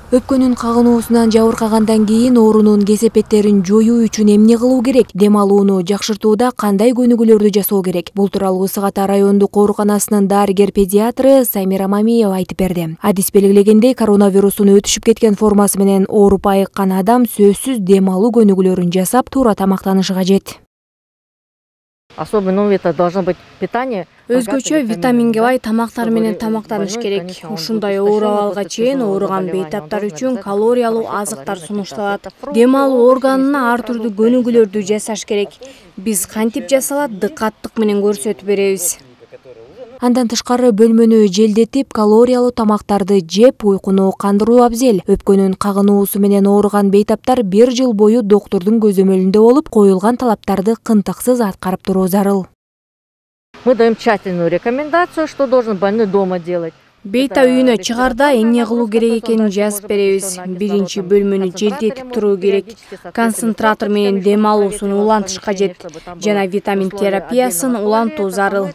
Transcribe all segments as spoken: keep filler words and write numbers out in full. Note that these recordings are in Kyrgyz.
Өпкөнүн кагынуусунан жабыркагандан кийин оорунун кесепеттерин жоюу үчүн эмне кылуу керек? Дем алууну жакшыртууда кандай көнүгүүлөрдү жасоо керек? Бул тууралуу Ысык Ата райондук ооруканасынын дарыгер-педиатры Самира Мамиева айтып берди. Адис белгилегендей, коронавирустун өтүшүп кеткен формасы менен ооруп айыккан адам сөзсүз дем алуу көнүгүүлөрүн жасап, туура тамактанышы кажет. Особенно это должно быть питание. Өзгөчө витаминге бай тамактар менен тамактаныш керек. Ушундай оор абалга чейин ооруган бейтаптар үчүн калориялуу азыктар сунушталат. Дем алуу органына ар түрдүү көнүгүүлөрдү жасаш керек. Биз кантип жасалат дыкаттык менен көрсөтүп беребиз. Андан тышкары бөлмөнү желдетип, калориялуу тамактарды жеп, уйкуну кандыруу абзел. Өпкөнүн кагынуусу менен ооруган бейтаптар бир жыл бою доктурдун көзөмөлүндө болуп, коюлган талаптарды кынтыксыз аткарып туруу зарыл. Мы даем тщательную рекомендацию, что должен больной дома делать. Бейта үйүнө чыгарда эмне кылуу керек экенин жазып беребиз. Биринчи бөлмөнү желдетип туруу керек. Концентратор менен дем алуусун улантыш кажет. Жана витамин терапиясын улантуу зарыл.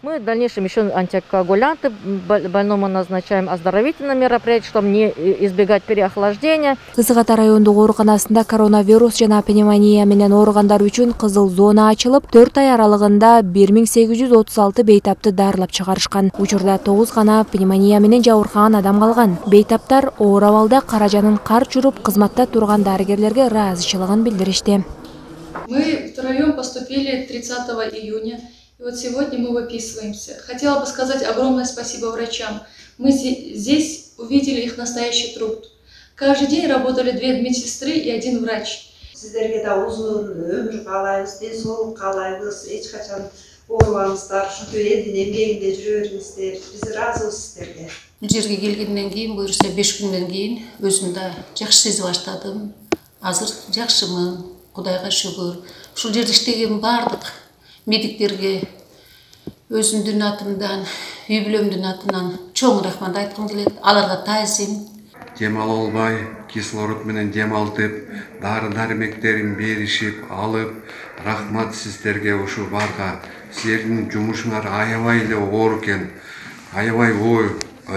Мы в дальнейшем еще антикоагулянты больному назначаем, оздоровительные мероприятия, чтобы не избегать переохлаждения. Ысык Ата райондук ооруканасында коронавирус жана пневмония менен ооругандар үчүн кызыл зона ачылып, төрт ай аралыгында бир миң сегиз жүз отуз алты бейтапты дарылап чыгарышкан. Учурда тогуз гана пневмония менен жабыркаган адам калган. Бейтаптар оор абалда каражанын кар чуруп, кызматта турган дарыгерлерге ыраазычылыгын билдиришти. Мы втроем поступили тридцатого июня. И вот сегодня мы выписываемся. Хотела бы сказать огромное спасибо врачам. Мы здесь увидели их настоящий труд. Каждый день работали две медсестры и один врач. Сиздерге да узун өмүр каалайбыз, денсаулык каалайбыз, эч качан оорубаңыздар, ушинтип элдин эмгегинде жүрө бериңиздер. Биз ыраазыбыз сиздерге. Бул жерге келгенден кийин, буюрса беш күндөн кийин өзүм да жакшы сезип баштадым. Азыр жакшымын, Кудайга шүгүр. Ушул жерде иштеген бардык медиктерге өзүмдүн атымдан, үй бүлөмдүн атынан чоң рахмат айткым келет. Аларга таазим. Дем ала албай, кислород менен дем алтып, дары-дармектерин беришип, алып, рахмат сиздерге ушу барга. Сиздердин жумушуңар аябай эле оор экен. Аябай ой,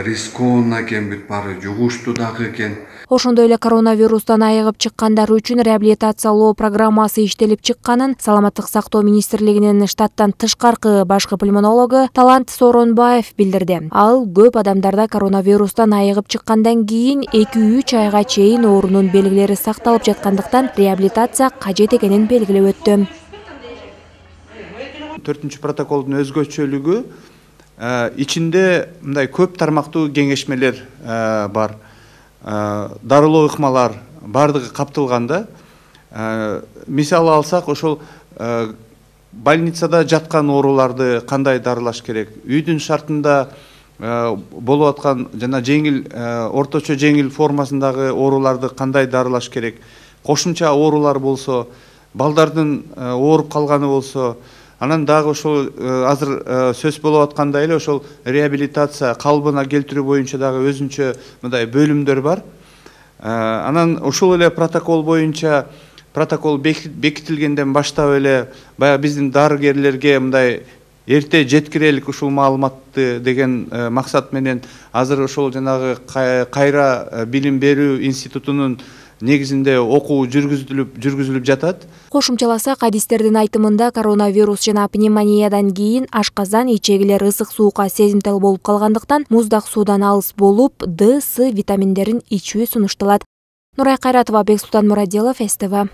рискованно экен, бүт баары жугуштуу дагы экен. Ошондой эле коронавирустан айыгып чыккандар үчүн реабилитациялоо программасы иштелип чыкканын Саламаттык сактоо министрлигинин штаттан тышкаркы башкы пульмонологу Талант Сооронбаев билдирди. Ал көп адамдарда коронавирустан айыгып чыккандан кийин эки үч айга чейин оорунун белгилери сакталып жаткандыктан реабилитация кажет экенин белгилеп өттү. Төртүнчү протоколдун өзгөчөлүгү ичинде мындай көп тармактуу кеңешмелер бар. Дарылоо ыкмалар бардыгы каптылганда. Мисалы алсак, ошол больницада жаткан ооруларды кандай дарылаш керек, үйдүн шартында болуп аткан жана жеңил, орточо жеңил формасындагы ооруларды кандай дарылаш керек, кошумча оорулар болсо, балдардын ооруп калганы болсо, анан дагы ошол азыр сөз болуп аткандай эле ошол реабилитация калыбына келтирүү боюнча дагы өзүнчө мындай бөлүмдөр бар. Анан ошол эле протокол боюнча протокол бекитилгенден баштап эле баягы биздин дарыгерлерге мындай эрте жеткирелик ушул маалыматты деген максат менен азыр ошол жанагы кайра билим берүү институтунун негизинде окуу жүргүзүлүп жүргүзүлүп жатат. Кошумчаласак, адистердин айтымында коронавирус жана пневмониядан кийин ашказан, ичегилер ысык суукка сезимтал болуп калгандыктан муздак суудан алыс болуп, Д, С витаминдерин ичүү сунушталат. Нурай Кайратова, Бексултан Мурадилов, С Т В.